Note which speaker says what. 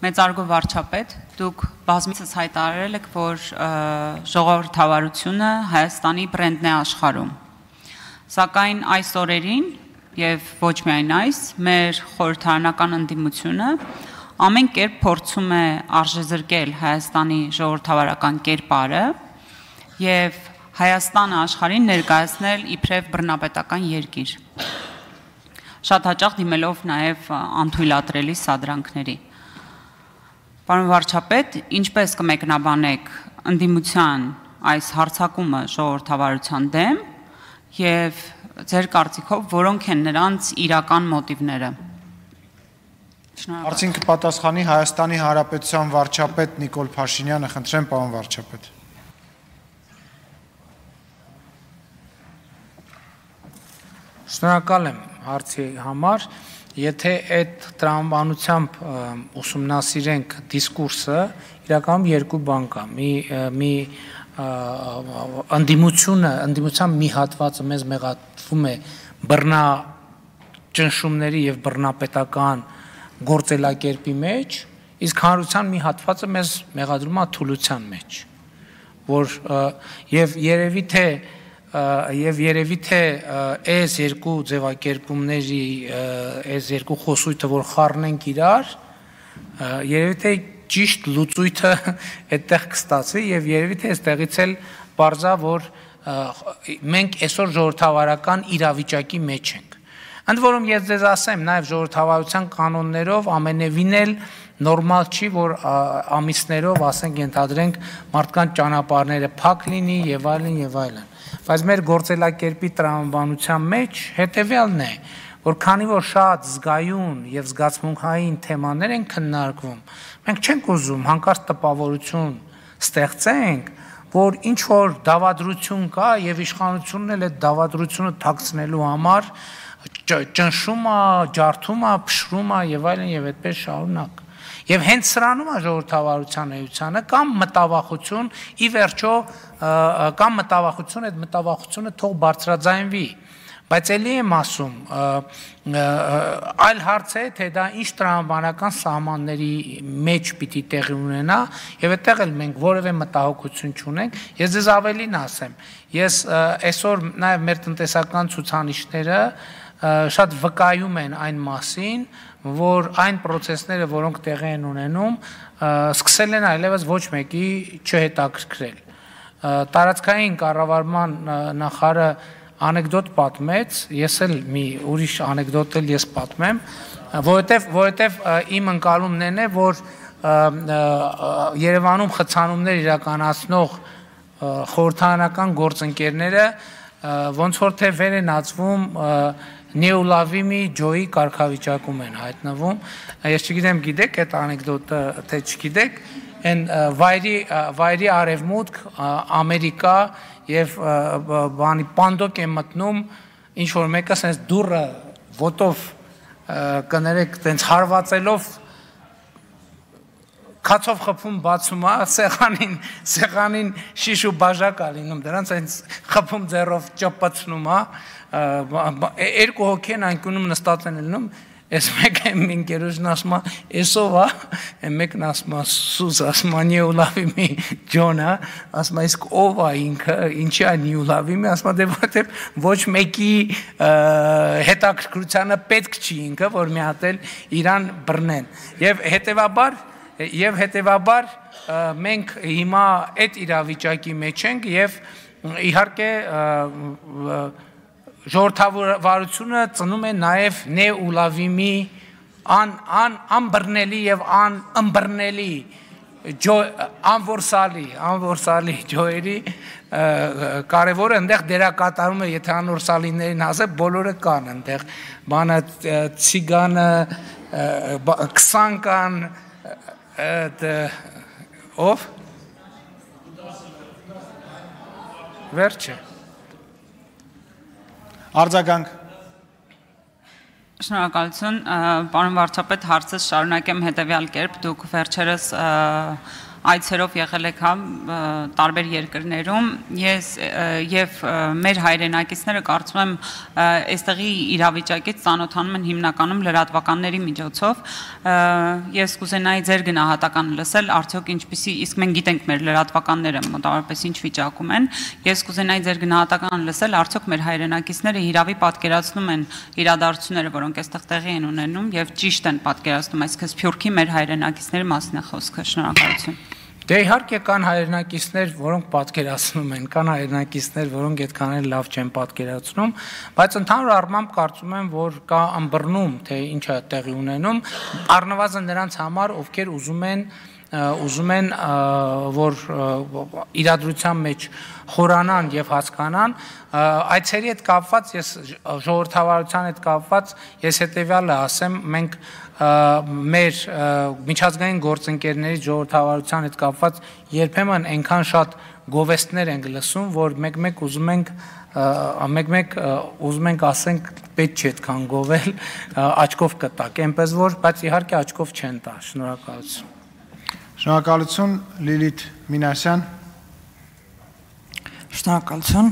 Speaker 1: Մեծարգո վարչապետ, դուք բազմիցս հայտարարել եք, որ ժողովրդավարությունը Հայաստանի բրենդն է աշխարհում։ Սակայն այս օրերին եւ ոչ միայն այս, մեր խորհրդարանական ընդդիմությունը ամեն կերպ փորձում է արժեզրկել Հայաստանի ժողովրդավարական կերպարը եւ Հայաստանը աշխարհին ներկայացնել իբրև բռնապետական երկիր։ Շատ հաճախ դիմելով նաեւ անթույլատրելի սադրանքների։ Պարոն վարչապետ, ինչպես կմեկնաբանեք ընդդիմության այս հարձակումը ժողովրդավարության դեմ եւ ձեր կարծիքով որոնք են նրանց իրական մոտիվները։
Speaker 2: Արդյոք կպատասխանի Հայաստանի Հանրապետության վարչապետ Նիկոլ Փաշինյանը, խնդրեմ պարոն վարչապետ։
Speaker 3: Շնորհակալ եմ հարցի համար, եթե այդ տրամաբանությամբ ուսումնասիրենք դիսկուրսը, իրականում երկու բան կա, մի ընդդիմության մի հատվածը մեզ մեղադրվում է բռնաճնշումների եւ բռնապետական գործելակերպի մեջ, իսկ հանրության մի հատվածը մեզ մեղադրում է թուլության մեջ, որ եւ երևի թե այս երկու ձևակերպումների այս երկու խոսույթը որ խառնենք իրար, երևի թե ճիշտ լուծույթը այդտեղ կստացվի եւ երևի թե այստեղից էլ բարձա որ մենք այսօր ժողովրդավարական իրավիճակի մեջ ենք։ Ընդ որում ես ձեզ ասեմ, նաև ժողովրդավարության կանոններով ամենևին էլ նորմալ չի, որ ամիսներով, ասենք, ենթադրենք մարդկանց ճանապարհները փակ լինի եւ այլն եւ այլն։ Բայց մեր գործելակերպի տրամաբանության մեջ հետեւյալն է, որ քանի որ շատ զգայուն եւ զգացմունքային թեմաներ են քննարկվում, մենք չենք ուզում հանկարծ տպավորություն ստեղծենք, որ ինչ որ դավադրություն կա եւ իշխանությունն էլ այդ դավադրությունը թաքցնելու համար ճնշում է, ջարդում է, փշրում է եւ այլն եւ այդպես շարունակ։ Եվ հենց սրանում է ժողովրդավարության էությանը կամ մտավախություն, ի վերջո կամ մտավախություն, այդ մտավախությունը թող բարձրաձայնվի։ Բայց ելի եմ ասում, այլ հարց է, թե դա ինչ տրամաբանական սահմանների մեջ պիտի տեղի ունենա, եւ այդտեղ էլ մենք որևէ մտահոգություն չունենք։ Ես ձեզ ավելին ասեմ, ես այսօր նաեւ մեր տնտեսական ցուցանիշները շատ վկայում են այն մասին, որ այն պրոցեսները, որոնք տեղի են ունենում, սկսել են այլևս ոչ մեկի չհետաքրքրել։ Տարածքային կառավարման նախարարը անեկդոտ պատմեց, ես էլ մի ուրիշ անեկդոտ էլ ես պատմեմ, որովհետև իմ ընկալումն է, որ Երևանում խցանումներ իրականացնող խորհրդարանական գործընկերները ոնց որ թե վեր են ածվում Նեուլավիմի ջոյի կարգավիճակում են հայտնվում։ Ես չգիտեմ գիտեք այդ անեկդոտը, թե չգիտեք, այն վայրի արևմուտք, Ամերիկա եւ բանի պանդոկ է մտնում ինչ որ մեկը sense դուրը ոտով կներեք տենց հարվածելով քացով խփում բացում է, սեղանին շիշ ու բաժակ է լինում, դրանց այնց խփում ձեռով ճպացնում է, երկու հոգի են անկյունում նստած են լինում, այս մեկը ինքերոջն ասում է, էսով է, մեկն ասում է, սուս ասում է Նեուլավիմի ջոնը, ասում է, իսկ ով է ինքը, ինչի է Նեուլավիմի, ասում է, դե որտեվ ոչ մեկի հետաքրքրությանը պետք չի ինքը, որ մի հատ էլ իրան բռնեն։ Եվ հետևաբար մենք հիմա այդ իրավիճակի մեջ ենք եւ իհարկե ժողովրդավարությունը ծնում է նաեւ Նեուլավիմի անբռնելի եւ անըմբռնելի անորսալի ջոյերի կարևորը այնտեղ դերակատարում է, եթե անորսալիներին ասեմ, բոլորը կան այնտեղ, բանը ցիգանը, 20 կան, ով վերջը
Speaker 2: արձագանք
Speaker 1: Շնորհակալություն, պարոն վարչապետ, հարցս շարունակեմ հետևյալ կերպ, դուք վերջերս այցերով եղել եք տարբեր երկրներում, ես եւ մեր հայրենակիցները կարծում եմ այստեղի իրավիճակից ծանոթանում են հիմնականում լրատվականների միջոցով, ես կուզենայի ձեր գնահատականը լսել, արդյոք ինչպիսի, իսկ մենք գիտենք մեր լրատվականները մոտավորապես ինչ վիճակում են, ես կուզենայի ձեր գնահատականը լսել, արդյոք մեր հայրենակիցները հիրավի պատկերացնում են իրադարձությունները, որոնք այստեղ տեղի են ունենում եւ ճիշտ են պատկերացնում, այսինքն Սփյուռքի մեր հայրենակիցների մասին է խոսքը, շնորհակալություն։
Speaker 3: Դե իհարկե կան հայրենակիցներ, որոնք պատկերացնում են, կան հայրենակիցներ, որոնք այդքան էլ լավ չեն պատկերացնում, բայց ընդհանուր առմամբ կարծում եմ, որ կա ըմբռնում, թե ինչ է տեղի ունենում, առնվազն նրանց համար, ովքեր ուզում են, որ իրադրության մեջ խորանան եւ հասկանան, այցերի հետ կապված, ես ժողովրդավարության հետ կապված, ես հետեւյալը ասեմ, մենք մեր միջազգային գործընկերների ժողովրդավարության հետ կապված երբեմն այնքան շատ գովեստներ ենք լսում, որ մեկ-մեկ ուզում ենք ասենք պետք չէ այդքան գովել, աչքով կտակ, այնպես որ, բայց իհարկե աչքով չեն տա, շնորհակալություն։
Speaker 2: Շնորհակալություն, Լիլիթ Մինասյան։
Speaker 4: Շնորհակալություն։